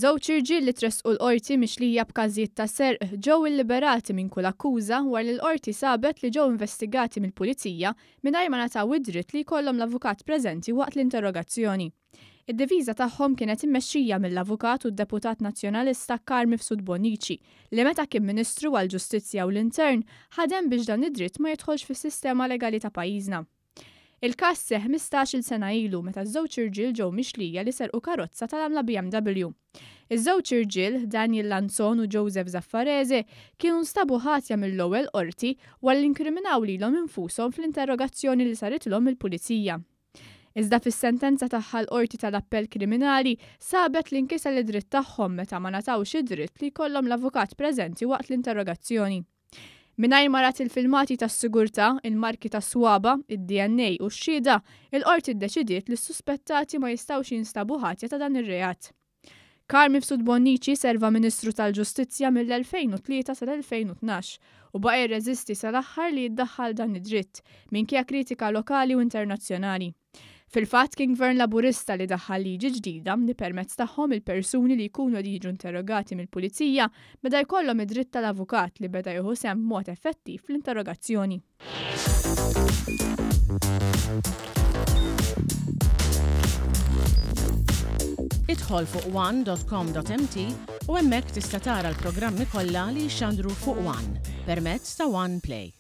Żewġ irġiel li tressqu l-Qorti mixlija b'każijiet ta' serq ġew illiberati minn kull akkuża wara li l-Qorti sabet li ġew investigati mill-Pulizija mingħajr ma ngħataw id-dritt li jkollhom l-avukat preżenti waqt l-interrogazzjoni. Id-difiża tagħhom kienet immexxija mill-Avukat u d-Deputat Nazzjonalista Carm Mifsud Bonnici li meta kien Ministru għall-Ġustizzja u l-Intern ħadem biex dan id-dritt ma jidħolx fis-sistema legali ta' pajjiżna. Il-każ seħħ 15-il sena ilu meta ż-żewġ irġiel ġew mixlija li serqu karozza tal-għamla BMW. Iż-żewġ irġiel, Daniel Lanzon u Joseph Zaffarese, kienu nstabu ħatja mill-ewwel Qorti wara li inkriminaw lilhom infushom fl-interrogazzjoni li saritilhom mill-Pulizija. Iżda fis-sentenza tagħha l-Qorti tal-Appell Kriminali sabet li nkiser id-dritt tagħhom meta ma ngħatawx id-dritt li jkollhom l-avukat preżenti waqt l-interrogazzjoni. Mingħajr ma rat il-filmati tas-sigurtà, il-marki tas-swaba', id-DNA u x-xhieda, il-Qorti ddeċidiet li s-suspettati ma jistgħux jinstabu ħatja ta' dan ir-reat. Carl Mifsud Bonnici serva Ministru tal-Ġustizzja mill-2003 sal-2012 u baqa' jirreżisti sal-aħħar li jiddaħħal dan id-dritt, minkejja kritika lokali u internazzjonali. Fil-fatt kien Gvern Laburista li daħħal liġi ġdida li permezz tagħhom il-persuni li jkunu qegħdin jiġu interrogati mill-Pulizija beda jkollhom id-dritt tal-avukat li beda jieħu sehem b'mod effettiv fl-interrogazzjoni. Idħol fuq one dot com dot mt u hemmhekk tista' tara l-programmi kollha li jixxandru fuq one permezz ta' One Play.